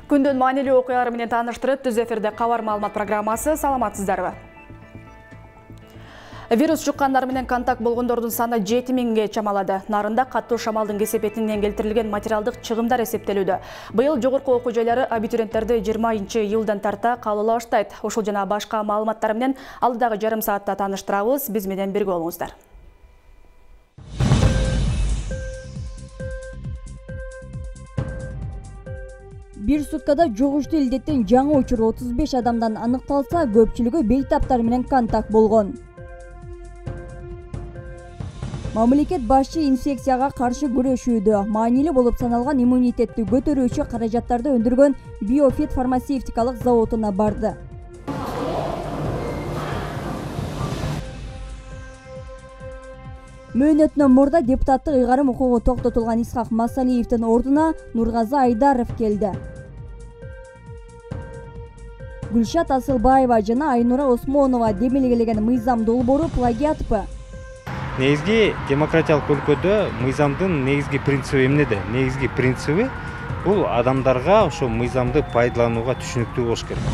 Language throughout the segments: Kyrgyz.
Күндүн маанилүү окуялары менен тааныштырып, түз эфирде кабар маалымат программасы. Саламатсыздарбы? Вирус жуккандар менен контакт болгондордун саны 7000ге чамалады. Нарында каттуу шамалдын кесепетинен келтирилген материалдык чыгымдар эсептелүүдө. Быйыл жогорку окуу жайлары абитуриенттерди 20-жылдан тарта кабыл баштайт. Ушул жана башка маалыматтар менен алдыдагы жарым саатта тааныштырабыз. Биз менен бирге болуңуздар. Bir суткада жугуштуу илдеттин жаңы учуру 35 адамдан аныкталса, көпчүлүгү бейтаптар менен контакт болгон. Мамлекет башчы инфекцияга каршы күрөшүүдө маанилүү болуп саналган иммунитетти көтөрүүчү каражаттарды өндүргөн Биофит фармацевтикалык заводуна барды. Мөөнөтүнөн мурда депутаттык ыйгарым укугу токтотулган Исхак Масалиевдин ордуна Нургазы Айдаров келди. Гүлшат Асылбаева жана Айнура Осмонова демилгелеген мыйзам долбоору плагиатпы? Негизги демократиялык өлкөдө мыйзамдын негизги принциби эмнеде? Негизги принциби бул адамдарга ошо мыйзамды пайдаланууга түшүнүктүү болуш керек.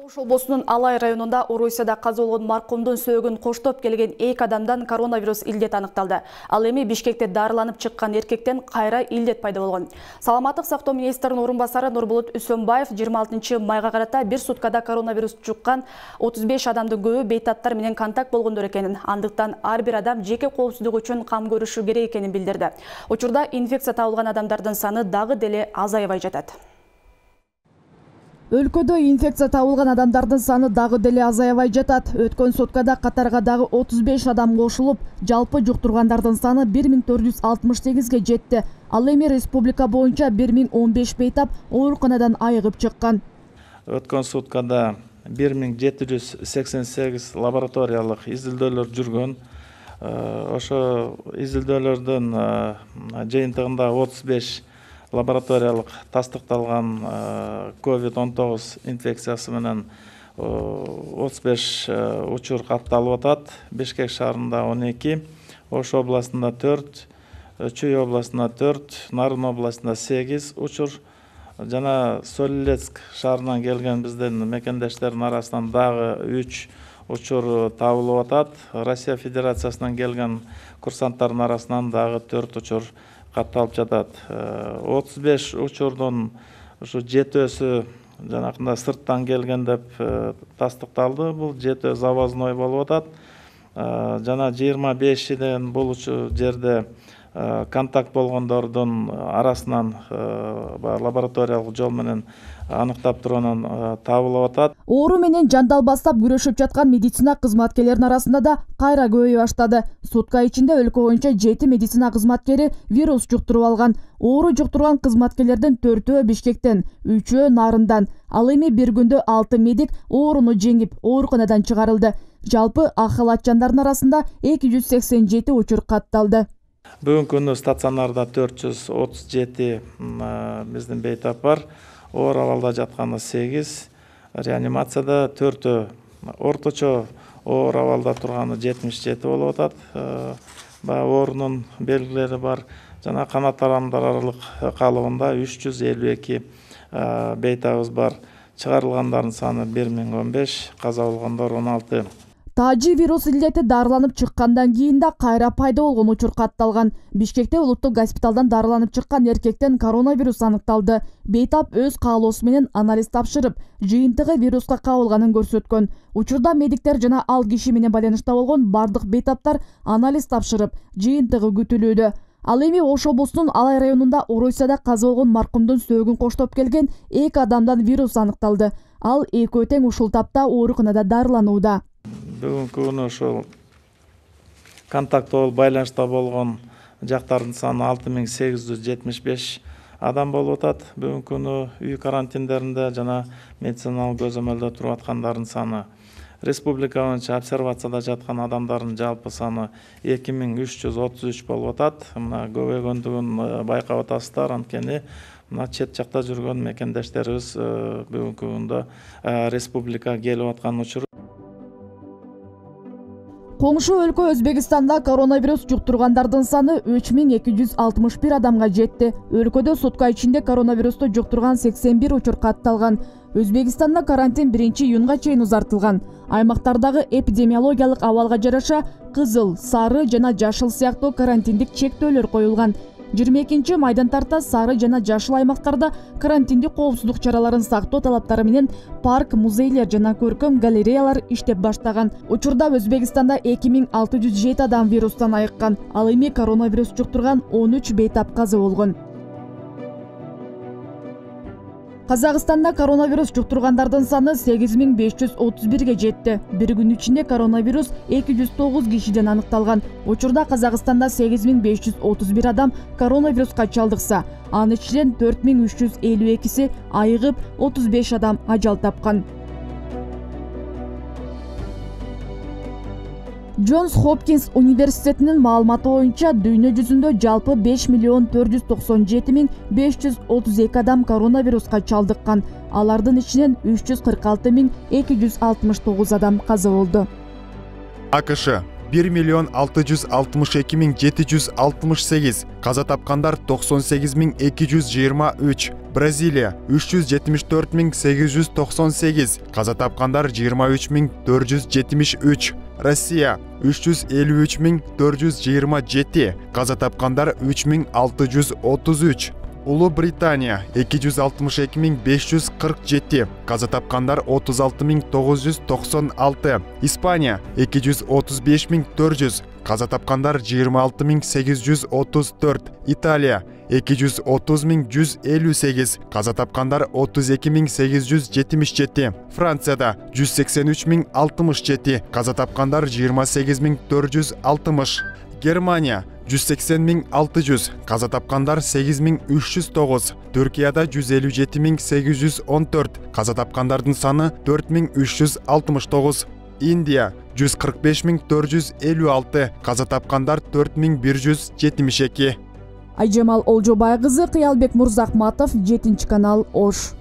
Ош облусунун Алай районунда Орусияда каза болгон маркумдун сөөгүн коштоп келген 2 адамдан коронавирус илдет аныкталды. Ал эми Бишкекте дарыланып чыккан эркектен кайра илдет пайда болгон. Саламаттык сактоо министринин орун басары Нурбулут Үсөнбаев 26 майга карата бир суткада коронавирус жуккан 35 адамдын көбү бейтаптар менен контакт болгондор экенин, андыктан ар бир адам жеке коопсуздук үчүн кам көрүшү керек экенин билдирди. Учурда инфекция табылган адамдардын саны дагы деле азайбай жатат. Өлкөдө инфекция табылган адамдардын саны дагы деле азаябай жатат. Өткөн суткада катарга дагы 35 адам кошулуп, жалпы жуктургандардын саны 1468ге жетти. Ал эми республика боюнча 1015 бейтап ооруканадан айыгып чыккан. Өткөн суткада 1788 лабораториялык изилдөөлөр жүргөн. Ошо изилдөөлөрдүн жыйынтыгында 35 лабораториялык тастыкталган COVID-19 инфекциясы менен 35 учур катталып атат. Бишкек шаарында 12, Ош областында 4, Чүй областында 4, Нарын областында 8 учур жана Солилецк шаарынан келген биздин мекендештердин арасынан дагы 3 учур табылып атат. Россия Федерациясынан келген курсанттардын арасынан дагы 4 учур катталып жатат. 35 учурдун ушу 7өсү жанакында сырттан келген деп тастыкталды. Бул 7 завозной болуп атат. Жана 25ден бул жерде контакт болгондордун арасынан лабораториялык жол менен аныктап турганан табылып атат. Оору менен жандалбастап күрөшүп жаткан медицина кызматкерлеринин арасында да кайра көбөйө баштады. Сутка ичинде өлкө боюнча 7 медицина кызматкери вирус жуктуруп алган. Оору жуктурган кызматкерлердин 4-өө Бишкектен, 3-өө Нарындан. Ал эми бир күндө 6 медик ооруну жеңип, ооруканадан чыгарылды. Жалпы ак халатчандардын арасында 287 учур катталды. Бүгүнкү күнү стационарда 437 биздин бейтап бар. Оор абалда жатканы 8, реанимацияда 4, орточо оор абалда турганы 77 болуп атат. Оорунун белгилери бар. Жана канат тарамдарлык калыбында 352 бейтабыбыз бар. Чыгарылгандардын саны 1015, каза болгондор 16. Тажи вирус илдети дарыланып чыккандан кийин да кайра пайда болгон учур катталган. Бишкекте улуттук госпиталдан дарыланып чыккан эркектен коронавирус аныкталды. Бейтап өз каалоосу менен анализ тапшырып, жыйынтыгы вируска кабылганын көрсөткөн. Учурда медиктер жана ал киши менен байланышта болгон бардык бейтаптар анализ тапшырып, жыйынтыгы күтүлүүдө. Ал эми Ош облусунун Алай районунда Орусияда каза болгон маркумдун сөөгүн коштоп келген 2 адамдан вирус аныкталды. Ал экөө тең ушул тапта ооруканада дарыланууда. Бүгүнкү күнү ошол контакт болуп байланышта болгон жактардын саны 6875 адам болуп атат. Бүгүнкү күнү үй карантиндеринде жана медициналык көзөмөлдө туруп аткандардын саны. Республика боюнча обсервацияда жаткан адамдардын жалпы саны 2333 болуп атат. Мына көбөйгөндүгүн байкап атасыздар, анткени мына чет жакта жүргөн мекендештерибиз бүгүнкү күндө республикага келип аткан учуру. Коңшу өлкө Өзбекстанда коронавирус жуктургандардын саны 3261 адамга жетти. Өлкөдө сутка ичинде коронавирусту жуктурган 81 учур катталган. Өзбекстанда карантин 1-июнга чейин узартылган. Аймактардагы эпидемиологиялык абалга жараша кызыл, сары жана жашыл сыяктуу карантиндик чектөөлөр коюлган. 22 майдан тарта сары жана жашыл аймактарда карантиндик коопсуздук чараларын сактоо талаптары менен парк, музейлер жана көркөм галереялар иштеп баштаган. Учурда Өзбекстанда 2607 адам вирустан айыккан. Ал эми коронавирус жуктурган 13 бейтап каза болгон. Казакстанда коронавирус жуктургандардын саны 8531ге жетти. Bir күн ичинде коронавирус 209 кишиден аныкталган. Учурда Казакстанда 8531 адам коронавируска чалдыкса, анын ичинен 4352си айыгып, 35 адам ажал тапкан. Джонс Хопкинс университетинин маалыматы боюнча дүйнө жүзүндө жалпы 5,497,532 адам коронавируска чалдыккан. Алардын ичинен 346,269 адам каза болду. АКШ 1,662,768, каза тапкандар 98,223. Бразилия 374,898, каза тапкандар 23,473. Россия 353,427, каза тапкандар 3,633. Улуу Британия 262,547, каза тапкандар 36,996. Испания 235,400, каза тапкандар 26,834. Италия 230,158, каза тапкандар 32,877. Францияда 183,067, каза тапкандар 28,460. Германия 180,600, каза тапкандар 8,309. Түркияда 157,814, каза тапкандардын саны 4,369. Индия 145,456, каза тапкандар 4,172. Айжамал Олжобай кызы, Кыялбек Мурзахматов, 7 канал, Ош.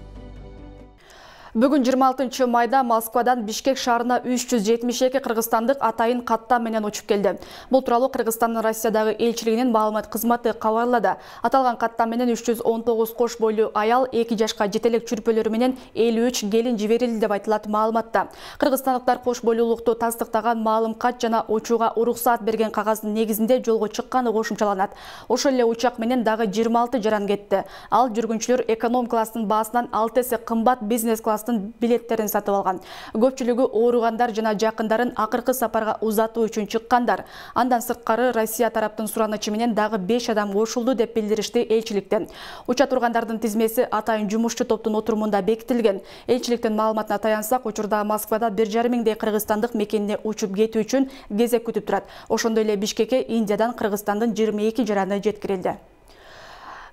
Бүгүн 26 майда Москвадан Бишкек шаарына 372 кыргызстандык атайын каттам менен учуп келди. Бул тууралуу Кыргызстандын Россиядагы элчилигинин маалымат кызматы кабарлады. Аталган каттам менен 319 кош бойлуу аял, 2 жашка жетелек чүрпөлөрү менен 53 келин жиберилди деп айтылат маалыматта. Кыргызстандыктар кош бойлуулукту тастыктаган маалым кат жана учууга уруксаат берген кагаздын негизинде жолго чыкканы кошумчаланат. Ошол эле учак менен дагы 26 жаран кетти. Ал жүргүнчүлөр эконом класстын баасынан 6 эсе кымбат бизнес класс билеттерин сатып алган. Көпчүлүгү ооругандар жана жакындарын акыркы сапарга узатуу үчүн чыккандар. Андан сырткары Россия тараптын суранычы менен дагы 5 адам кошулду деп билдиришти элчиликтен. Уча тургандардын тизмеси атайын жумушчу топтун отурумунда бекитилген. Элчиликтин маалыматына таянсак, учурда Москвада 1,5 миңдей кыргызстандык мекенине учуп кетүү үчүн кезек күтүп турат. Ошондой эле Бишкекке Индиядан Кыргызстандын 22 жараны жеткирилди.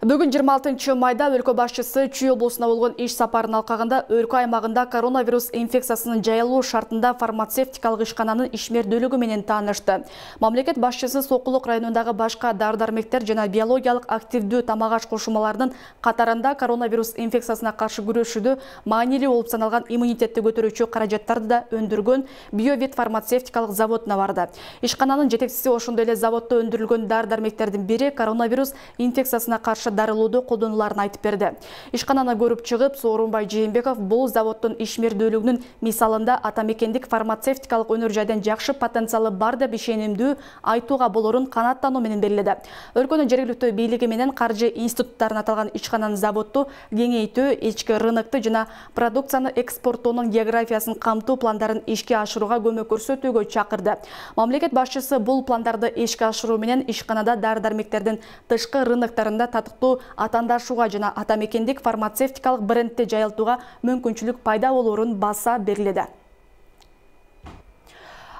Бүгүн 26 майда өлкө башчысы Чүй облусуна болгон иш сапарын алкагында өлкө аймагында коронавирус инфекциясынын жайылуу шартында фармацевтикалык ишкананын ишмердүүлүгү менен таанышты. Мамлекет башчысы Сокулук районундагы башка дары-дармектер жана биологиялык активдүү тамак-аш кошумаларынын катарында коронавирус инфекциясына каршы күрөшүүдө маанилүү болуп саналган иммунитетти көтөрүүчү каражаттарды да өндүргөн Биовит фармацевтикалык заводуна барды. Ишкананын жетекчиси ошондой эле заводдо өндүрүлгөн дары-дармектердин бири коронавирус инфекциясына каршы дарылооду колдонуларын айтып берди. Ишкананы көрүп чыгып, Соорунбай Жээнбеков бул заводдун ишмердүүлүгүнүн мисалында атамекендик фармацевтикалык өнөр жайдан жакшы потенциалы бар деп ишенимдүү айтууга болорун канааттануу менен белгиледи. Өлкөнүн жергиликтүү бийлиги менен каржы институттарын аталган ишкананын заводду кеңейтүү, ички рынокты жана продукцияны экспорттоонун географиясын камтуу пландарын ишке ашырууга көмөк көрсөтүүгө чакырды. Мамлекет башчысы бул пландарды ишке ашыруу менен ишканада дары-дармектердин тышкы рыноктарында татыктуу атаандашууга жана атамекендик фармацевтикалык брендти жайылтууга мүмкүнчүлүк пайда болоорун баса белгиледи.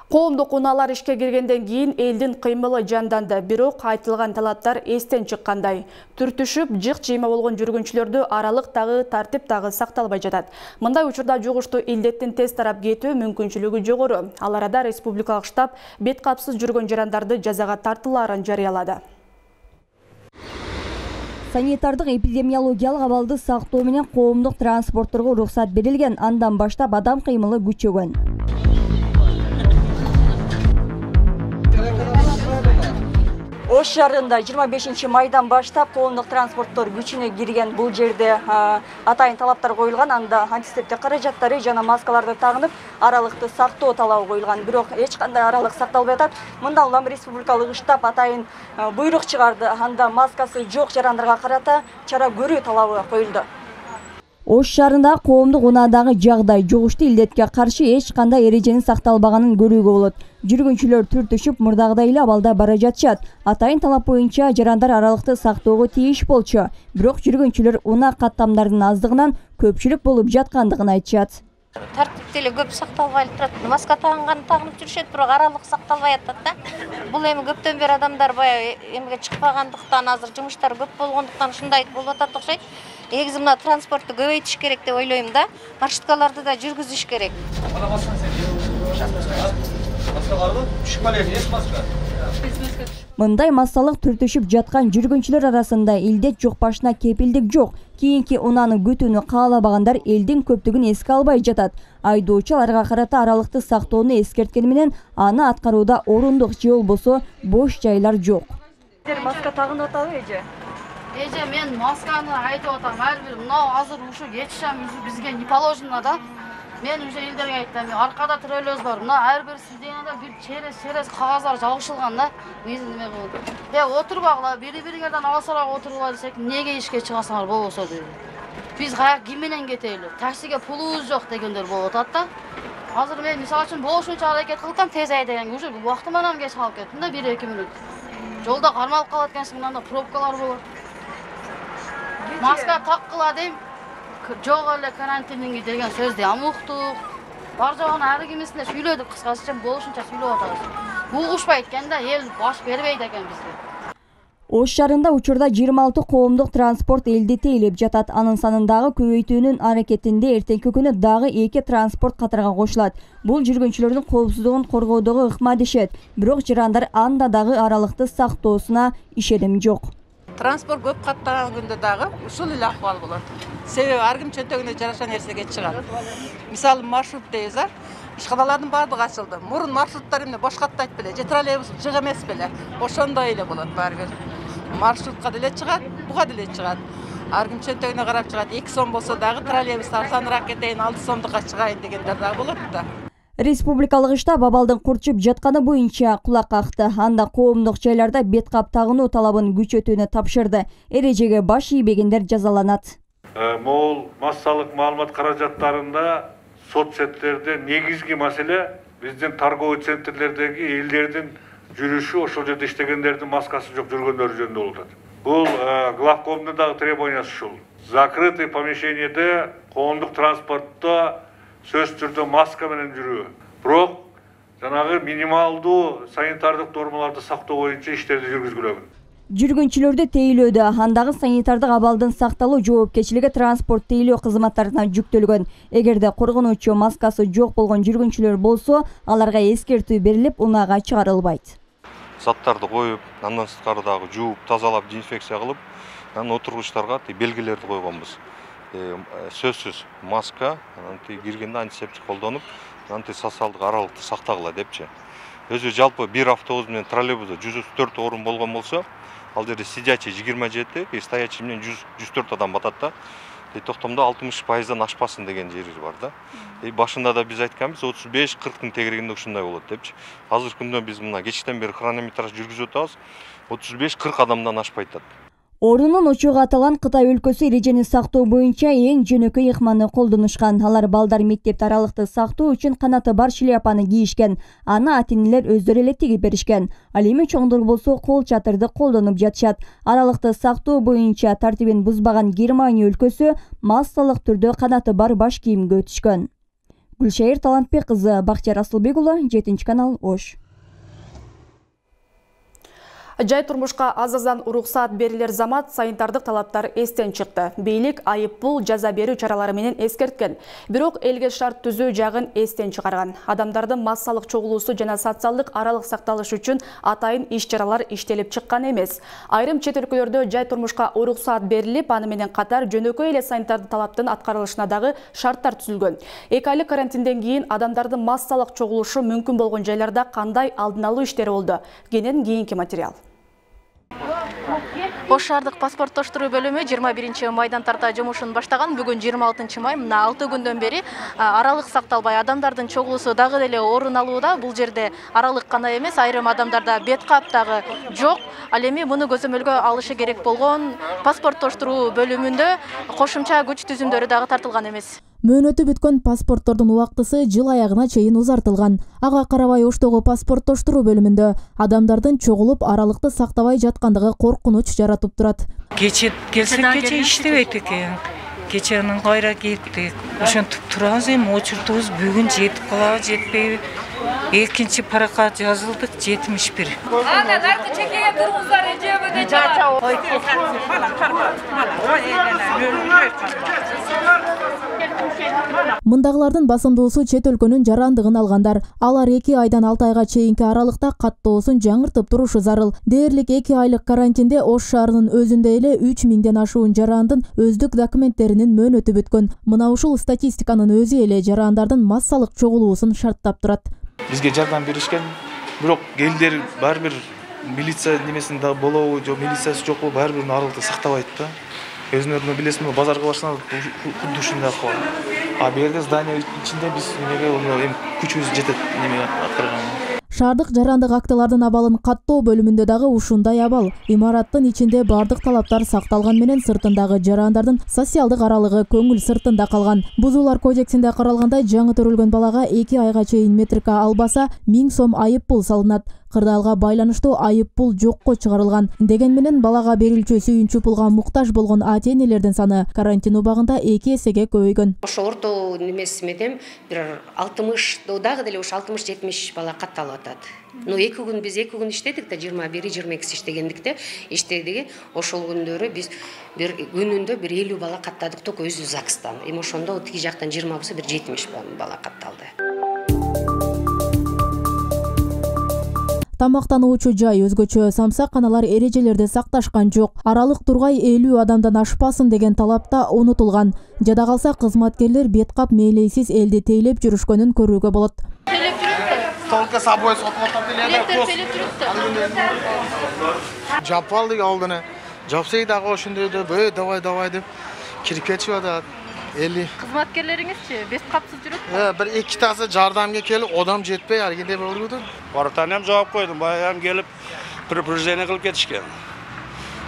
Коомдук унаалар ишке киргенден кийин элдин кыймылы жанданды, бирок айтылган талаптар эстен чыккандай. Түртүшүп, жык жыйма болгон жүргүнчүлөрдү аралык дагы, тартип дагы сакталбай жатат. Мындай учурда жугуштуу илдеттин тез тарап кетүү мүмкүнчүлүгү жогору. Ал арада республикалык штаб бет капсыз жүргөн жарандарды жазага тартуулаарын жарыялады. Санитардык эпидемиологиялык абалды сактоо менен коомдук транспортторго уруксат берилген. Андан баштап адам кыймылы күчөгөн. Ош шаарында 25 майдан баштап коомдук транспорттор күчүнө кирген. Бул жерде атайын талаптар коюлган, анда антисептик каражаттары жана маскаларды тагынып, аралыкты сактоо талабы коюлган. Бирок эч кандай аралык сакталбай атат. Мындан улам республикалык штаб атайын буйрук чыгарды. Анда маскасы жок жарандарга карата чара көрүү талабы коюлду. Ош шаарында коомдук унаадагы жагдай жугуштуу илдетке каршы эч кандай эреженин сакталбаганын көрүүгө болот. Жүргүнчүлөр түртүшүп мурдагыдай эле абалда бара жатышат. Атайын талап боюнча жарандар аралыкты сактоого тийиш болчу. Бирок жүргүнчүлөр унаа каттамдарынын аздыгынан көпчүлүк болуп жаткандыгын айтышат. Тартипте эле көп сакталбай турат. Маска тагынган тагынып жүрүшөт, бирок аралык сакталбай атат да. Бул эми көптөн бери адамдар баягы эмге чыкпагандыктан, азыр жумуштар көп болгондуктан ушундай болуп атат окшойт. Негизи мына транспортту көбөйтүш керек деп ойлойм да. Маршруткаларды да жүргүзүш керек. Мындай массалык түртүшүп жаткан жүргүнчүлөр арасында илдет жукпашына кепилдик жок. Кийинки унааны күтүүнү каалабагандар элдин көптүгүн эске албай жатат. Айдоочу аларга карата аралыкты сактоону эскерткени менен аны аткарууда орундук же болбосо бош жайлар жок. Маска тагынып атабы эже? Эже, мен масканы айтып атам. Ар бир мына азыр ушу кетишем бизге не положено да. Мен уже элдерге айттым. Аркада троллейбус бар. Мына ар бир сизденада бир через кагаздар жабышылган да. Биздин неме болду. Отурбагыла, бири-бириңерден алысараак отургула десек, эмнеге ишке чыгасыңар болбосо дейт. Биз каяк ким менен кетели? Таксиге пулубуз жок дегендер болуп атат да. Азыр мен мисалы үчүн болушунча аракет кылгам, тез айдайын. Уже убактым анан кеч калып кеттим да 1-2 мүнөт. Жолда кармалып калат экенсиң, мында пробкалар болот. Маска таккыла дейм. Жок эле карантининги деген сөздү амуктук. Бар жогун ар кимисине сүйлөдүк, кыскача болушунча сүйлөп атабыз. Угушпайт экен да, эл баш бербейт экен бизге. Ош шаарында учурда 26 коомдук транспорт элди тейлеп жатат. Анын санын дагы көбөйтүүнүн аракетинде эртеңки күнү дагы 2 транспорт катарга кошулат. Бул жүргүнчүлөрдүн коопсуздугун коргоодогу ыкма дешет. Бирок жарандар анда дагы аралыкты сактоосуна ишеним жок. Транспорт көп каттаган күндө дагы ушул эле акыбал болот. Себеби ар ким чөнтөгүнө жараша нерсеге чыгат. Мисалы маршрут дейбиз, ишканалардын баардыгы ачылды. Мурун маршруттар эмне бош каттайт беле, же троллейбус жык эмес беле. Ошондой эле болот баары бир. Маршрутка деле чыгат, буга деле чыгат. Ар ким чөнтөгүнө карап чыгат. 2 сом болсо дагы троллейбус арзаныраак кетейин, 6 сомдукка чыгайын дегендер дагы болот да. Республикалык штаб абалдын курчуп жатканы боюнча кулак какты. Анда коомдук жайларда бет кап тагынуу талабын күчөтүүнү тапшырды. Эрежеге баш ийбегендер жазаланат. Могул массалык маалымат каражаттарында соцсеттерде негизги маселе биздин торговый центрлердеги элдердин жүрүшү, ошол жерде иштегендердин маскасы жок жүргөндөрү жөнүндө болуп атат. Бул главкомдун дагы требованиясы ушул. Закрытый помещениеде коомдук транспортто сөз түрдө маска менен жүрүү. Бирок жанагы минималдуу санитардык нормаларды сактоо боюнча иштерди жүргүзгүлөгөн. Жүргүнчүлөрдү тейлөөдө андагы санитардык абалдын сакталуу жоопкерчилиги транспорт тейлөө кызматтарына жүктөлгөн. Эгерде коргонуучу маскасы жок болгон жүргүнчүлөр болсо, аларга эскертүү берилип, унаага чыгарылбайт. Заттарды коюп, андан сырткары дагы жууп, тазалап, дезинфекция кылып, анан отургучтарга белгилерди койгонбуз. Сөзсүз маска, киргенде антисептик колдонуп, социалдык аралыкты сактагыла депчи. Өзү жалпы бир автобус менен троллейбуста 104 орун болгон болсо, ал жерде сидячий 27, стоячий менен 104 адам батат да. Токтомдо 60%дан ашпасын деген жери бар да. Башында да биз айтканбыз 35-40 тегерегинде ушундай болот депчи. Азыркы күндө биз мына кечтен бери хронометраж жүргүзүп атабыз. 35-40 адамдан ашпайт да. Орунун учугу аталган Кытай өлкөсү эрежени сактоо боюнча эң жөнөкөй ыкманы колдонушкан. Алар балдар мектепте аралыкты сактоо үчүн канаты бар шляпаны кийишкен. Аны ата-энелер өздөрү эле тигип беришкен. Ал эми чоңдор болсо кол чатырды колдонуп жатышат. Аралыкты сактоо боюнча тартибин бузбаган Германия өлкөсү массалык түрдө канаты бар баш кийимге өтүшкөн. Гүлшайыр Талантбек кызы, Бактияр Асылбек уулу, 7-канал, Ош. Жай турмушка аз-аздан уруксаат берилер замат санитардык талаптар эстен чыкты. Бийлик айыппул жаза берүү чаралары менен эскерткен. Бирок элге шарт түзүү жагын эстен чыгарган. Адамдардын массалык чогулуусу жана социалдык аралык сакталышы үчүн атайын иш-чаралар иштелип чыккан эмес. Айрым чет өлкөлөрдө жай турмушка уруксаат берилип, аны менен катар жөнөкөй эле санитардык талаптын аткарылышына дагы шарттар түзүлгөн. 2 айлык карантинден кийин адамдардын массалык чогулушу мүмкүн болгон жайларда кандай алдын алуу иштери болду? Кенен кийинки материал. Ош шаардык паспорттоштуруу бөлүмү 21 майдан тарта жумушун баштаган. Бүгүн 26 май, мына 6 күндөн бери аралык сакталбай адамдардын чогулуусу дагы деле орун алууда. Бул жерде аралык гана эмес, айрым адамдарда бет кап дагы жок. Ал эми муну көзөмөлгө алышы керек болгон паспорттоштуруу бөлүмүндө кошумча күч түзүмдөрү дагы тартылган эмес. Мөөнөтү бүткөн паспорттордун убактысы жыл аягына чейин узартылган. Ага карабай Оштогу паспорттоштуруу бөлүмүндө адамдардын чогулуп аралыкты сактабай жаткандыгы коркунуч жаратып турат. Кече келсек иштебейт экен. Кеченин кайра кеттик. Ошентип турабыз, эми очуртубуз бүгүн жетип калабы, жетпейби? Экинчи паракка жазылдык 71. Ана наркы чекеге тургуздар, эжебеде жаа. Мындагылардын басымдуусу чет өлкөнүн жарандыгын алгандар. Алар 2 айдан 6 айга чейинки аралыкта каттоосун жаңыртып турушу зарыл. Дээрлик 2 айлык карантинде Ош шаарынын өзүндө эле 3000ден ашуун жарандын өздүк документтеринин мөөнөтү бүткөн. Мына ушул статистиканын өзү эле жарандардын массалык чогулуусун шарттап турат. Бизге жардам беришкен, бирок элдер баары бир милиция немесинде болобу, жок милициясы жокпу, баары бир аралыкты сактабайт да. Өзүнөрүнө билесизби, базарга барсаңар кудду ушундай акыбал. А бу жерде здание ичинде биз эмеге күчүбүз жетет неме аткарганга. Шаардык жарандык актылардын абалын каттоо бөлүмүндө дагы ушундай абал. Имараттын ичинде бардык талаптар сакталган менен сыртындагы жарандардын социалдык аралыгы көңүл сыртында калган. Бузуулар кодексинде каралгандай, жаңы төрөлгөн балага 2 айга чейин метрика албаса 1000 сом айып пул салынат. Кырдаалга байланыштуу айып пул жокко чыгарылган. Деген менен балага берилчү сүйүнчү пулга муктаж болгон ата-энелердин саны карантин убагында 2 эсеге көбөйгөн. Ошо орто немеси менен бир 60 дагы деле ушу 60-70 бала катталып атат. Ну 2 күн биз 2 күн иштедик да 21-22 иштегендикте иштедик. Ошол күндөрү биз бир күнүндө бир 50 бала каттадык ток өзү ЗАГСтан. Эми ошондо тиги жактан 20 болсо бир 70 бала катталды. Тамактануучу жай өзгөчө, самсаканалар эрежелерди сакташкан жок. Аралык тургай 50 адамдан ашпасын деген талапта унутулган. Жада калса кызматкерлер бет кап мээлейсиз элди тейлеп жүрүшкөнүн көрүүгө болот. Только собой сотмотор деледі. Жапалдық алдыны. Жапсай дағы ошынды өйді, давай деп кирип кетип атат. Кызматкерлериңизчи бет капсыз жүрөт? Бир 2 тасы жардамга келип, одам жетпей аргенде болду. Бартан ham жооп койдум, баягы келип предупреждение кылып кетишкен.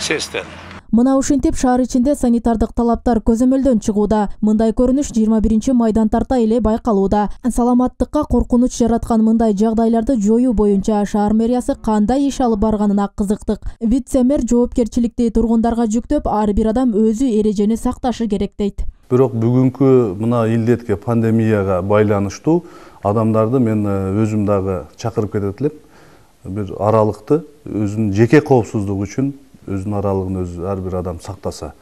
Сестен. Мына ушинтип шаар ичинде санитардык талаптар көзөмөлдөн чыгууда. Мындай көрүнүш 21 майдан тарта эле байкалууда. Саламаттыкка коркунуч жараткан мындай жагдайларды жоюу боюнча шаар мэриясы кандай иш алып барганына кызыктык. Вице-мэр жоопкерчиликти тургундарга жүктөп, ар бир адам өзү эрежени сакташы керек дейт. Бирок бүгүнкү мына илдетке, пандемияга байланыштуу адамдарды мен өзүм дагы чакырып кетет элем. Бир аралыкты өзүнүн жеке коопсуздугу үчүн өзүнүн аралыгын өзү ар бир адам сактаса.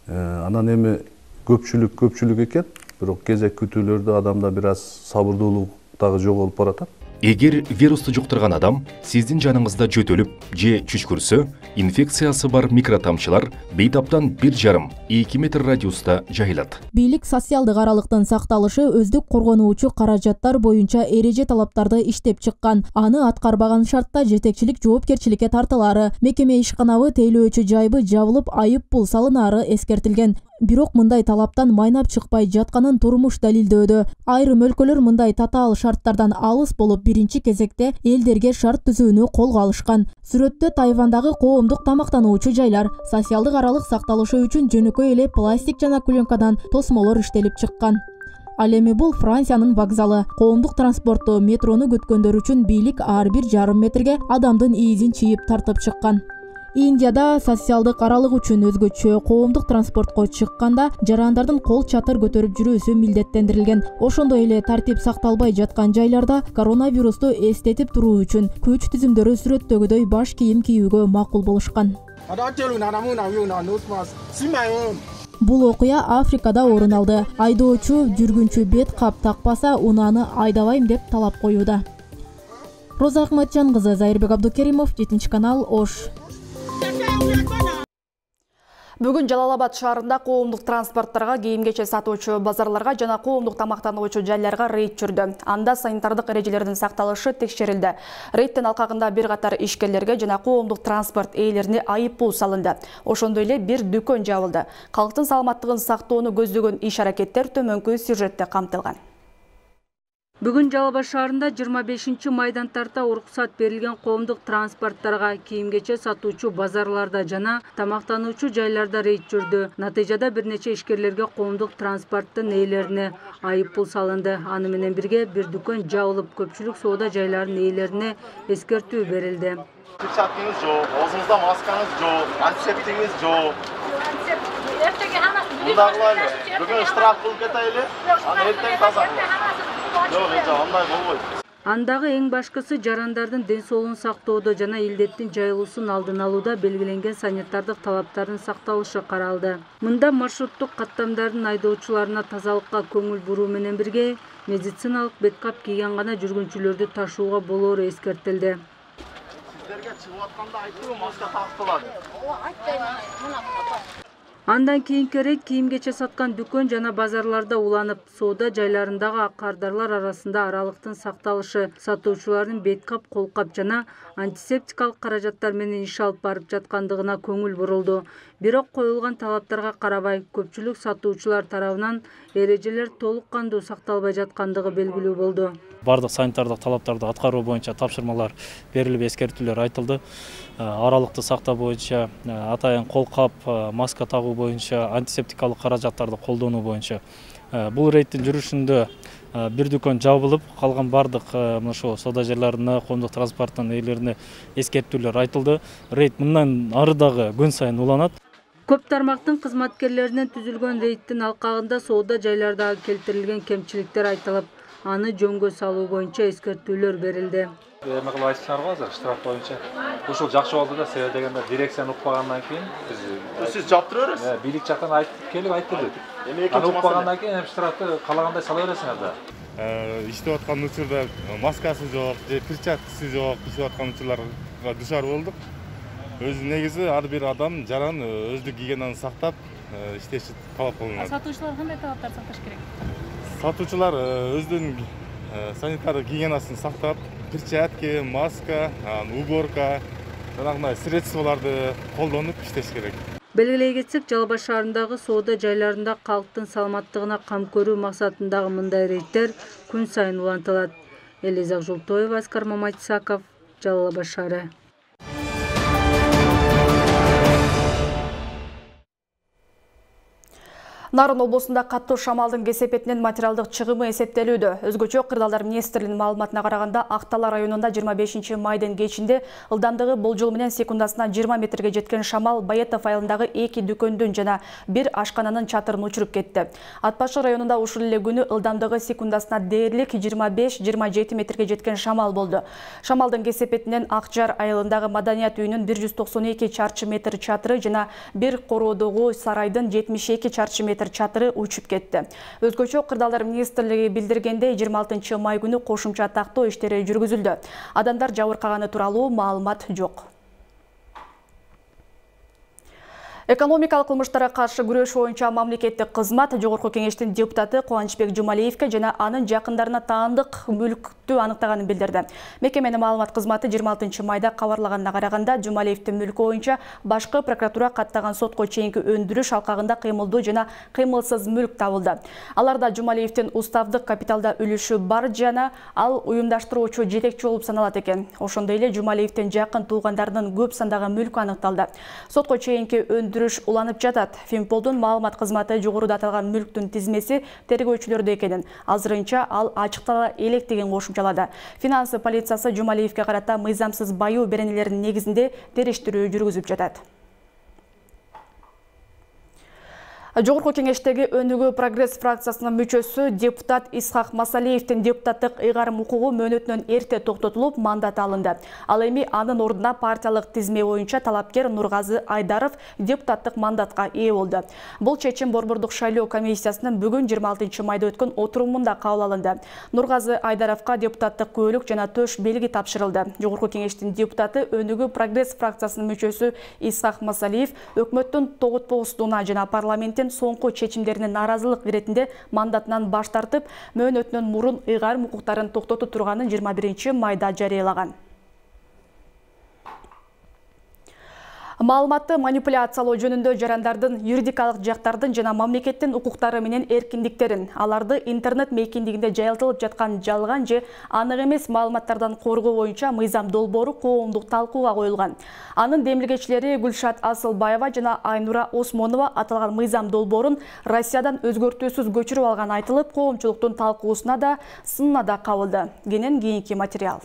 Анан эми көпчүлүк экен, бирок кезек күтүүлөрдө адамда бир аз сабырдуулук дагы жоголуп баратат. Эгер вирусту жуктурган адам сиздин жаныңызда жөтөлүп же чүчкүрсө, инфекциясы бар микротамчылар бейтаптан 1,5-2 метр радиуста жайылат. Бийлик социалдык аралыктын сакталышы өздүк коргонуучу каражаттар боюнча эреже талаптарды иштеп чыккан. Аны аткарбаган шартта жетекчилик жоопкерчиликке тартылары, мекеме ишканабы тейлөөчү жайбы жабылып айып пул салынары эскертилген. Бирок мындай талаптан майнап чыкпай жатканын турмуш далилдөөдө. Айрым өлкөлөр мындай татаал шарттардан алыс болуп, биринчи кезекте элдерге шарт түзүүнү колго алышкан. Сүрөттө Тайвандагы коомдук тамактануучу жайлар социалдык аралык сакталышы үчүн жөнөкөй эле пластик жана пленкадан тосмолор иштелип чыккан. Ал эми бул Франциянын вокзалы. Коомдук транспортту, метрону күткөндөр үчүн бийлик ар бир жарым метрге адамдын ийизин чийип тартып чыккан. Индияда социалдык аралык үчүн өзгөчө коомдук транспортко чыкканда жарандардын кол чатыр көтөрүп жүрүүсү милдеттендирилген. Ошондой эле тартип сакталбай жаткан жайларда коронавирусту эстетип туруу үчүн күч түзүмдөрү сүрөттөгүдөй баш кийим кийүүгө макул болушкан. Бул окуя Африкада орун алды. Айдоочу жүргүнчү бет кап такпаса, унааны айдабайм деп талап коюуда. Роза Акматжан кызы, Зайырбек Абдукеримов, 7 канал, Ош. Бүгүн Жалал Абад шаарында коомдук транспорттарга, кийим-кече сатуучу базарларга жана коомдук тамактануучу жайларга рейд жүрдү. Анда санитардык эрежелердин сакталышы текшерилди. Рейдтин алкагында бир катар ишкерлерге жана коомдук транспорт ээлерине айыппул салынды. Ошондой эле бир дүкөн жабылды. Калктын саламаттыгын сактоону көздөгөн иш-аракеттер төмөнкү сюжетте камтылган. Бүгүн Жалал Абад шаарында 25 майдан тарта уруксат берилген коомдук транспорттарга, кийим-кече сатуучу базарларда жана тамактануучу жайларда рейд жүрдү. Натыйжада бир нече ишкерлерге коомдук транспорттун ээлерине айыппул салынды. Аны менен бирге бир дүкөн жабылып, көпчүлүк соода жайларынын ээлерине эскертүү берилди. Перчаткаңыз жок, оозуңузда маскаңыз жок, антисептигиңиз жок. Мындагылай, бүгүн штраф кылып кетели, аны эртең таза. Андагы эң башкысы жарандардын ден соолугун сактоодо жана илдеттин жайылуусун алдын алууда белгиленген санитардык талаптардын сакталышы каралды. Мында маршруттук каттамдардын айдоочуларына тазалыкка көңүл буруу менен бирге медициналык беткап кийген гана жүргүнчүлөрдү ташууга болоору эскертилди. Сиздерге чыгып атканда айтып, маска тактылады. Андан кийинки рейд кийим-кече саткан дүкөн жана базарларда уланып, соода жайларындагы кардарлар арасында аралыктын сакталышы, сатуучулардын беткап, колкап жана антисептикалык каражаттар менен иш алып барып жаткандыгына көңүл бурулду. Бирок коюлган талаптарга карабай, көпчүлүк сатуучулар тарабынан эрежелер толук кандуу сакталбай жаткандыгы белгилүү болду. Бардык санитардык талаптарды аткаруу боюнча тапшырмалар берилип, эскертүүлөр айтылды. Аралыкты сактоо боюнча, атайын колкап, маска тагуу боюнча, антисептикалык каражаттарды колдонуу боюнча. Бул рейдтин жүрүшүндө бир дүкөн жабылып, калган бардык ошо соода жайларына, коомдук транспорттун ээлерине эскертүүлөр айтылды. Рейд мындан ары дагы күн сайын уланат. Көп тармактын кызматкерлеринен түзүлгөн рейдтин алкагында соода жайлардагы келтирилген кемчиликтер айтылып, аны жөнгө салуу боюнча эскертүүлөр берилди. Эме кылып айтышарбы азыр штраф боюнча? Ушул жакшы болду да, себеби дегенде дирекцияны укпагандан кийин сиз жаптыра бересиз. Бийлик жактан айтып келип айтып аны укпагандан кийин штрафты каалагандай сала бересиңер да. Иштеп аткан учурда маскасы жок, же перчаткасы жок, иштеп аткан учурларга душар болдук. Өзү негизи ар бир адам жаран өздүк гигиенаны сактап иштеши талап кылынат. Сатуучулар кандай талаптарды сакташ керек? Сатуучулар өздүнүн санитардык гигиенасын сактап, перчатки, маска, уборка, жанагындай средстволарды колдонуп иштеш керек. Белгилей кетсек, Жалал Абад шаарындагы соода жайларында калктын саламаттыгына кам көрүү максатындагы мындай рейдтер күн сайын улантылат. Элиза Жултоева, Аскар Маматисаков, Жалал Абад шаары. Нарын облусунда каттуу шамалдын кесепетинен материалдык чыгымы эсептелүүдө. Өзгөчө Кырдаалдар министрлигинин маалыматына караганда, Актала районунда 25 майдын кечинде ылдамдыгы болжол менен секундасына 20 метрге жеткен шамал Баятов айылындагы 2 дүкөндүн жана 1 ашкананын чатырын учуруп кетти. Ат Башы районунда ушул эле күнү ылдамдыгы секундасына дээрлик 25-27 метрге жеткен шамал болду. Шамалдын кесепетинен Акжар айылындагы Маданият үйүнүн 192 чарчы метр чатыры жана 1 короодогу сарайдын 72 чарчы метр чатыры учуп кетти. Өзгөчө Кырдаалдар министрлиги билдиргендей, 26 май күнү кошумча тактоо иштери жүргүзүлдү. Адамдар жабыркаганы тууралуу маалымат жок. Экономикалык кылмыштарга каршы күрөш боюнча мамлекеттик кызмат Жогорку кеңештин депутаты Кубанычбек Жумалиевке жана анын жакындарына таандык мүлктү аныктаганын билдирди. Мекеменин маалымат кызматы 26 майда кабарлаганына караганда, Жумалиевдин мүлкү боюнча башкы прокуратура каттаган сотко чейинки өндүрүш алкагында кыймылдуу жана кыймылсыз мүлк табылды. Аларда Жумалиевдин уставдык капиталда үлүшү бар жана ал уюмдаштыруучу жетекчи болуп саналат экен. Ошондой эле Жумалиевдин жакын туугандарынын көп сандагы мүлкү аныкталды. Сотко чейинки уланып жатат. Финполдун маалымат кызматы жогоруда аталган мүлктүн тизмеси тергөөчүлөрдө экенин, азырынча ал ачыктала элек деген кошумчалады. Финанс полициясы Жумалиевге карата мыйзамсыз баюу беренелеринин негизинде териштирүү жүргүзүп жатат. Жогорку кеңештеги Өнүгүү прогресс фракциясынын мүчөсү депутат Исхак Масалиевдин депутаттык ыйгарым укугу мөөнөтүнөн эрте токтотулуп, мандат алынды. Ал эми анын ордуна партиялык тизме боюнча талапкер Нургазы Айдаров депутаттык мандатка ээ болду. Бул чечим Борбордук шайлоо комиссиясынын бүгүн 26 майда өткөн отурумунда кабыл алынды. Нургазы Айдаровго депутаттык күбөлүк жана төш белги тапшырылды. Жогорку кеңештин депутаты Өнүгүү прогресс фракциясынын мүчөсү Исхак Масалиев өкмөттүн тоготпоосуна жана парламент соңку чечимдерине нааразылык иретинде мандатынан баш тартып, мөөнөтүнөн мурун ыйгарым укуктарын токтотуп турганын 21 майда жарыялаган. Маалыматты манипуляциялоо жөнүндө жарандардын юридикалык жактардын жана мамлекеттин укуктары менен эркиндиктерин, аларды интернет мейкиндигинде жайылтылып жаткан жалган же анык эмес маалыматтардан коргоо боюнча мыйзам долбоору коомдук талкууга коюлган. Анын демилгечилери Гүлшат Асылбаева жана Айнура Осмонова аталган мыйзам долбоорун Россиядан өзгөртүүсүз көчүрүп алган айтылып, коомчулуктун талкуусуна да, сынына да кабылды. Кенен кийинки материал.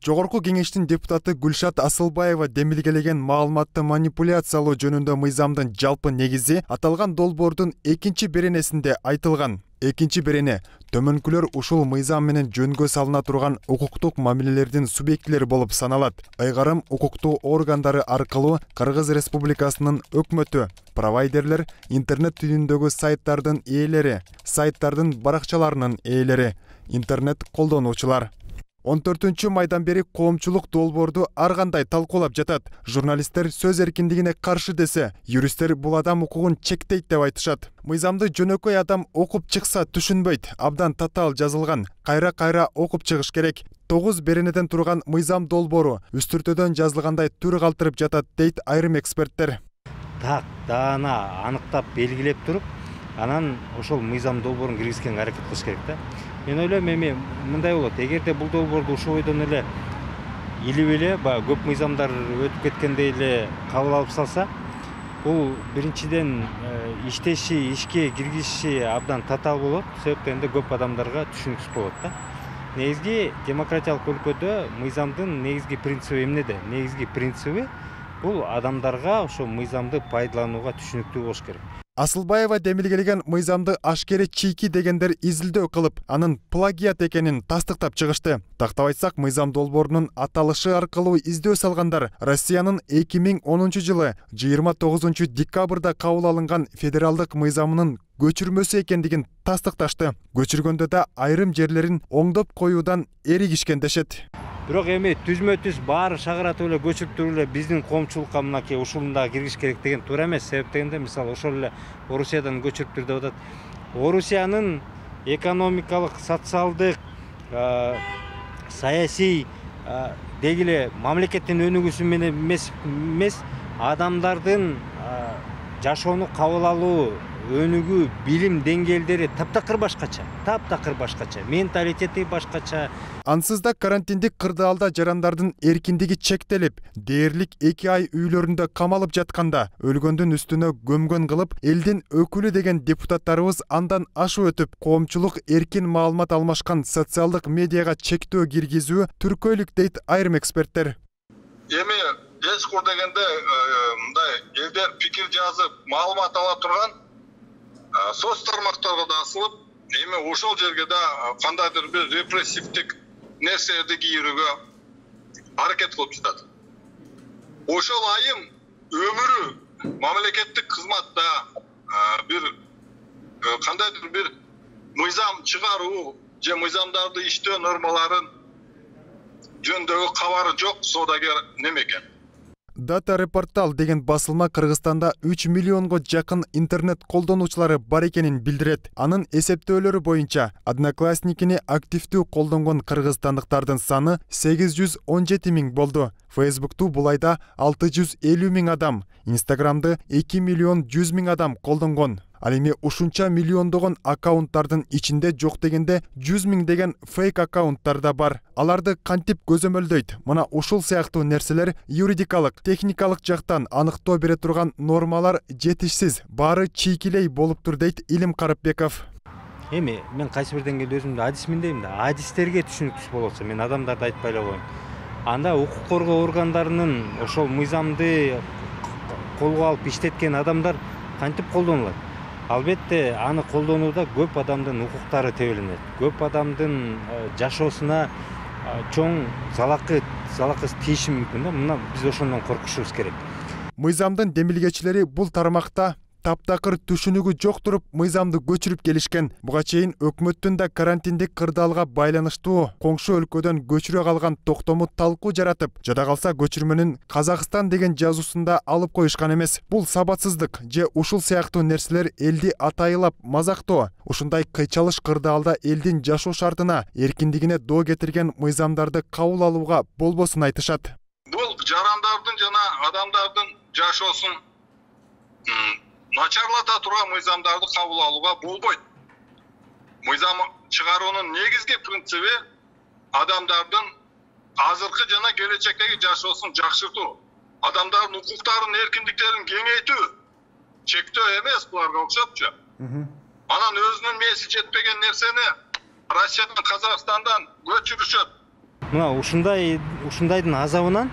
Жогорку кеңештин депутаты Гүлшат Асылбаева демилгелеген маалыматты манипуляциялоо жөнүндө мыйзамдын жалпы негизи аталган долбоордун 2-беренесинде айтылган. 2-берене төмөнкүлөр ушул мыйзам менен жөнгө салына турган укуктук мамилелердин субъектилери болуп саналат. Ыйгарым укуктуу органдары аркылуу Кыргыз Республикасынын өкмөтү, провайдерлер, интернет түрүндөгү сайттардын ээлери, сайттардын баракчаларынын ээлери, интернет колдонуучулар. 14 майдан бери коомчулук долбоорду ар кандай талкуулап жатат. Журналисттер сөз эркиндигине каршы десе, юристтер бул адам укугун чектейт деп айтышат. Мыйзамды жөнөкөй адам окуп чыкса түшүнбөйт, абдан татаал жазылган. Кайра окуп чыгыш керек. 9 беренеден турган мыйзам долбоору үстүртөдөн жазылгандай түр калтырып жатат, дейт айрым эксперттер. Так, даана аныктап белгилеп туруп, анан ошол мыйзам долбоорун киргизгенге аракет кылыш керек да. Мен ойлойм, эми мындай болот. Эгерде бул долбоорду ушул бойдон эле илип эле, көп мыйзамдар өтүп кеткендей эле кабыл алып салса, бул биринчиден иштеши, ишке киргизиши абдан татаал болот. Себептен да көп адамдарга түшүнүксүз болот да. Негизги демократиялык өлкөдө мыйзамдын негизги принциби эмнеде? Негизги принциби бул адамдарга ошо мыйзамды пайдаланууга түшүнүктүү болуш керек. Асылбаева демилгелеген мыйзамды ашкере чийки дегендер изилдөө кылып, анын плагиат экенин тастыктап чыгышты. Тактап айтсак, мыйзам долбоорунун аталышы аркылуу издөө салгандар Россиянын 2010 жылы 29 декабрда кабыл алынган федералдык мыйзамынын көчүрмөсү экендигин тастыкташты. Көчүргөндө да айрым жерлерин оңдоп коюудан эригишкен дешет. Бирок эми түзмө-түз баары шагыратып эле көчүрүп туруп эле биздин коомчулукка мынакей ушуну да киргизиш керек деген туура эмес. Себеп дегенде, мисалы, ошол эле Орусиядан көчүрүп тур деп атат. Орусиянын экономикалык, социалдык, саясий деги эле мамлекеттин өнүгүүсү менен эмес, адамдардын жашоону кабыл алуу, өнүгүү, билим деңгээлдери таптакыр башкача, менталитети башкача. Ансыз да карантиндик кырдаалда жарандардын эркиндиги чектелип, дээрлик 2 ай үйлөрүндө камалып жатканда, өлгөндүн үстүнө көмгөн кылып, элдин өкүлү деген депутаттарыбыз андан ашып өтүп, коомчулук эркин маалымат алмашкан социалдык медиага чектөө киргизүү түркөйлүк, дейт айрым эксперттер. Эми эскур дегенде мындай элдер пикир жазып, маалымат ала турган соц тармактарга да асылып, эми ошол жерге да кандайдыр бир репрессивдик нерселерди кийүүгө аракет кылып жатат. Ошол айым өмүрү мамлекеттик кызматта бир кандайдыр бир мыйзам чыгаруу же мыйзамдарды иштөө нормаларын жөнүндөгү кабары жок соодагер немекен. Data Reportal деген басылма Кыргызстанда 3 миллионго жакын интернет колдонуучулары бар экенин билдирет. Анын эсептөөлөрү боюнча Одноклассникини активдүү колдонгон кыргызстандыктардын саны 817 миң болду. Facebook'ту бул айда 650 миң адам, Instagram'ды 2 миллион 100 миң адам колдонгон. Ал эми ушунча миллиондогон аккаунттардын ичинде жок дегенде 100 миң деген фейк аккаунттар да бар. Аларды кантип көзөмөлдөйт? Мына ушул сыяктуу нерселер юридикалык, техникалык жактан аныктоо бере турган нормалар жетишсиз, баары чийкилей болуп тур, дейт Илим Карапбеков. Эми мен кайсы бир деңгээлде өзүмдү адисмин дейм да. Адистерге түшүнүктүү болсо, мен адамдарды айтпай эле коеюн. Анда укук коргоо органдарынын ошол мыйзамды колго алып иштеткен адамдар кантип колдонулат? Албетте аны колдонууда көп адамдын укуктары тебелинет. Көп адамдын жашоосуна чоң залакы тийиши мүмкүн да. Мына биз ошондон коркушубуз керек. Мыйзамдын демилгечилери бул тармакта таптакыр түшүнүгү жок туруп мыйзамды көчүрүп келишкен. Буга чейин өкмөттүн да карантиндик кырдаалга байланыштуу коңшу өлкөдөн көчүрө калган токтому талкуу жаратып, жада калса көчүрмөнүн Казакстан деген жазуусунда алып коюшкан эмес. Бул сабатсыздык же ушул сыяктуу нерселер элди атайылап мазактоо. Ушундай кыйчалыш кырдаалда элдин жашоо шартына, эркиндигине доо кетирген мыйзамдарды кабыл алууга болбосун айтышат. Бул жарандардын жана адамдардын жашоосун начарлата турган мыйзамдарды кабыл алууга болбойт. Мыйзам чыгаруунун негизги принциби адамдардын азыркы жана келечектеги жашоосун жакшыртуу, адамдардын укуктарын, эркиндиктерин кеңейтүү, чектөө эмес буларга окшопчу. Анан өзүнүн мээси жетпеген нерсени Россиядан, Казакстандан көчүрүшөт. Мына ушундайдын азабынан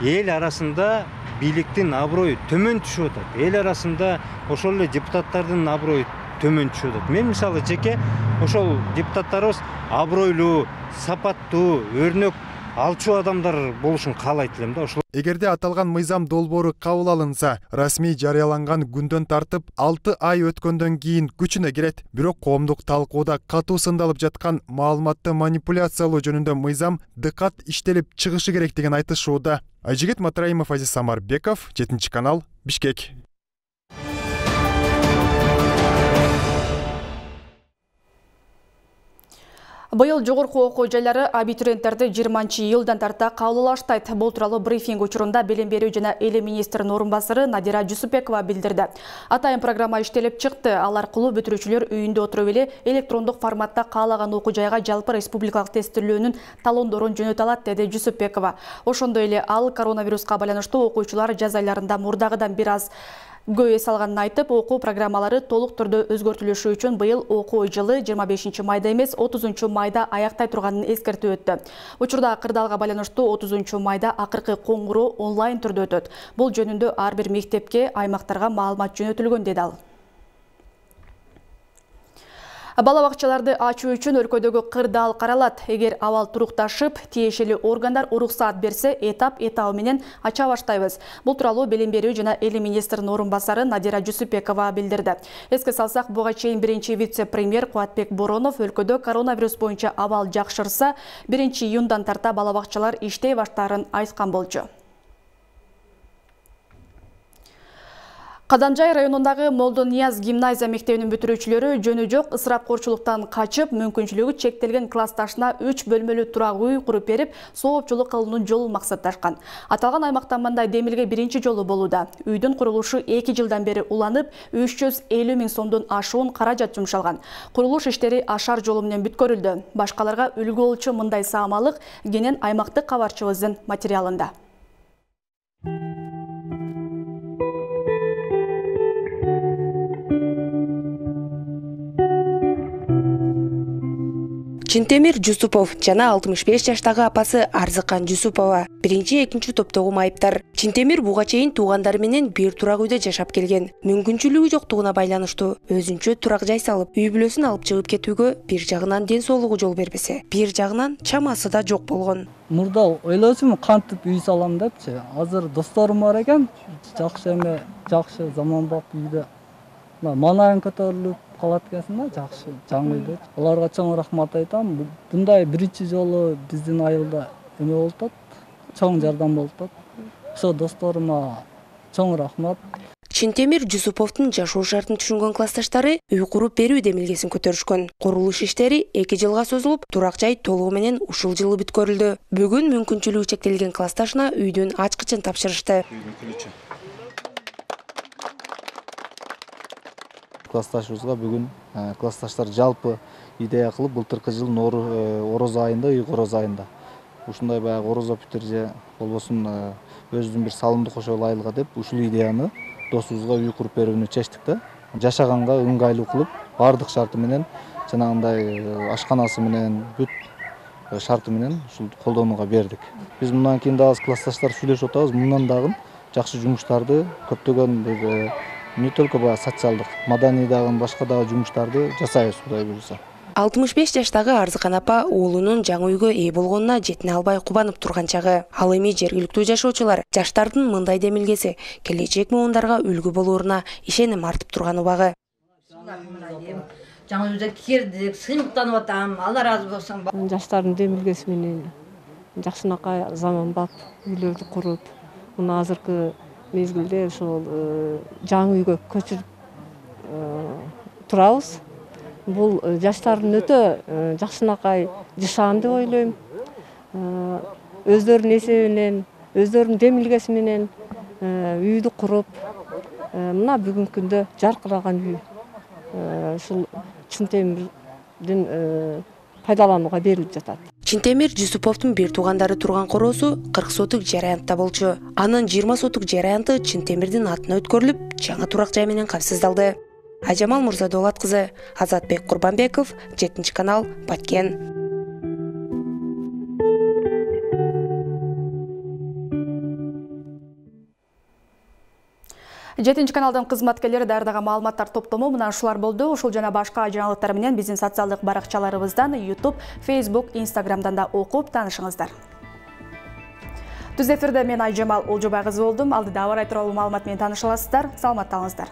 эл арасында бийликтин аброю төмөн түшүп атат. Эл арасында ошол эле депутаттардын аброю төмөн түшүп атат. Мен мисалы жеке ошол депутаттарыбыз абройлуу, сапаттуу, өрнөк алчу адамдар болушун каалайт элем да. Ошол Эгерде аталган мыйзам долбоору кабыл алынса, расмий жарыяланган күндөн тартып 6 ай өткөндөн кийин күчүнө кирет. Бирок коомдук талкууда катуу сындалып жаткан маалыматты манипуляциялоо жөнүндө мыйзам дыкат иштелип чыгышы керек деген айтышууда. Айжигит Матраимов, Азиз Самарбеков, 7 канал, Бишкек. Быйыл жогорку окуу жайлары абитуриенттерди 20-йылдан тарта кабылдаштайт. Бул тууралуу брифинг учурунда билим берүү жана эли министринин орун басары Надира Жусупбекова билдирди. Атайын программа иштелип чыкты. Ал аркылуу бүтүрүүчүлөр үйүндө отуруп эле электрондук форматта каалаган окуу жайга жалпы республикалык тестилөөнүн талондорун жөнөтө алат, деди Жусупбекова. Ошондой эле ал коронавируска байланыштуу окуучулар жаз айларында мурдагыдан бир аз көй салганын айтып, окуу программалары толук түрдө өзгөртүлүшү үчүн быйыл окуу жылы 25 майда эмес 30 майда аяктай турганын эскертип өттү. Учурда кырдаалга байланыштуу 30 майда акыркы коңгуроо онлайн түрдө өтөт. Бул жөнүндө ар бир мектепке, аймактарга маалымат жөнөтүлгөн, деди ал. Бала бакчаларды ачуу үчүн өлкөдөгү кырдаал каралат. Эгер абал турукташып, тиешелүү органдар уруксаат берсе, этап менен ача баштайбыз. Бул тууралуу билим берүү жана эли министринин орун басары Надира Жусупбекова билдирди. Эске салсак, буга чейин биринчи вице-премьер Кубатбек Боронов өлкөдө коронавирус боюнча абал жакшырса, 1-июндан тарта бала бакчалар иштей баштаарын айткан болчу. Кадамжай районундагы Молдонияз гимназия мектебинин бүтүрүүчүлөрү жөнү жок ысырапкорчулуктан качып, мүмкүнчүлүгү чектелген классташына 3 бөлмөлүү турак үй куруп берип, соопчулук кылуунун жолун максатташкан. Аталган аймакта мындай демилге биринчи жолу болууда. Үйдүн курулушу 2 жылдан бери уланып, 350 000 сомдон ашуун каражат жумшалган. Курулуш иштери ашар жолу менен бүткөрүлдү. Башкаларга үлгү болчу мындай саамалык кенен аймактык кабарчыбыздын материалында. Чинтемир Жусупов жана 65 жаштагы апасы Арзыкан Жусупова 1-2 топтогу майыптар. Чинтемир буга чейин туугандары менен бир турак үйдө жашап келген. Мүмкүнчүлүгү жоктугуна байланыштуу өзүнчө турак жай салып, үй бүлөсүн алып чыгып кетүүгө бир жагынан ден соолугу жол бербесе, бир жагынан чамасы да жок болгон. Мурда ойлочумун кантип үй салам депчи. Азыр досторум бар экен, жакшы заманбап үйдө. Манайын көтөрүлүп калат экенсиң да, жакшы жаңы үйдө. Аларга чоң рахмат айтам. Мындай биринчи жолу биздин айылда эме болуп атат, чоң жардам болуп атат. Ошо досторума чоң рахмат. Чинтемир Жусуповдун жашоо шартын түшүнгөн классташтары үй куруп берүү демилгесин көтөрүшкөн. Курулуш иштери 2 жылга созулуп, турак жай толугу менен ушул жылы бүткөрүлдү. Бүгүн мүмкүнчүлүгү чектелген классташына үйдүн ачкычын тапшырышты. Классташыбызга бүгүн классташтар жалпы идея кылып, былтыркы жылдын орозо айында, үй корозо айында ушундай баягы орозо бүтөр же болбосун өзүбүздүн бир салымды кошо айылга деп ушул идеяны досубузга үй куруп берүүнү чечтик да. Жашаганга ыңгайлуу кылып, бардык шарты менен, жанагындай ашканасы менен, бүт шарты менен ушул колдонууга бердик. Биз мындан кийин дагы классташтар сүйлөшүп атабыз, мындан дагы жакшы жумуштарды көптөгөн не только баягы социалдык, маданий дагы башка дагы жумуштарды жасайбыз Кудай буюрса. 65 жаштагы Арзыкан апа уулунун жаңы үйгө ээ болгонуна жетине албай кубанып турган чагы. Ал эми жергиликтүү жашоочулар жаштардын мындай демилгеси келечек муундарга үлгү болууруна ишеним артып турган убагы. Жаңы үйдө кирдик, сыймыктанып атам. Алла разы болсун. Жаштардын демилгеси менен жакшынакай заманбап үйлөрдү куруп, мына азыркы мезгилде ошол жаңы үйгө көчүрүп турабыз. Бул жаштардын өтө жакшынакай жашаан деп ойлойм. Өздөрүнүн эсебинен, өздөрүнүн демилгеси менен үйдү куруп, мына бүгүнкү күндө жаркыраган үй ушул Чынтемирдин пайдаланууга берилип жатат. Чынтемир Жусуповдун бир туугандары турган короосу 40 сотук жер аянтта болчу. Анын 20 сотук жер аянты Чынтемирдин атына өткөрүлүп, жаңы турак жай менен капсыздалды. Ажамал Мурзадолат кызы, Азатбек Курбанбеков, 7-канал, Баткен. 7-каналдын кызматкерлери даярдаган маалыматтар топтому мына ушулар болду. Ушул жана башка жаңылыктар менен биздин социалдык баракчаларыбыздан, YouTube, Facebook, Instagramдан да окуп таанышыңыздар. Түз эфирде мен Айжамал Олжобай кызы болдум. Алдыда аба ырайы тууралуу маалымат менен тааныша аласыздар. Саламатта калыңыздар.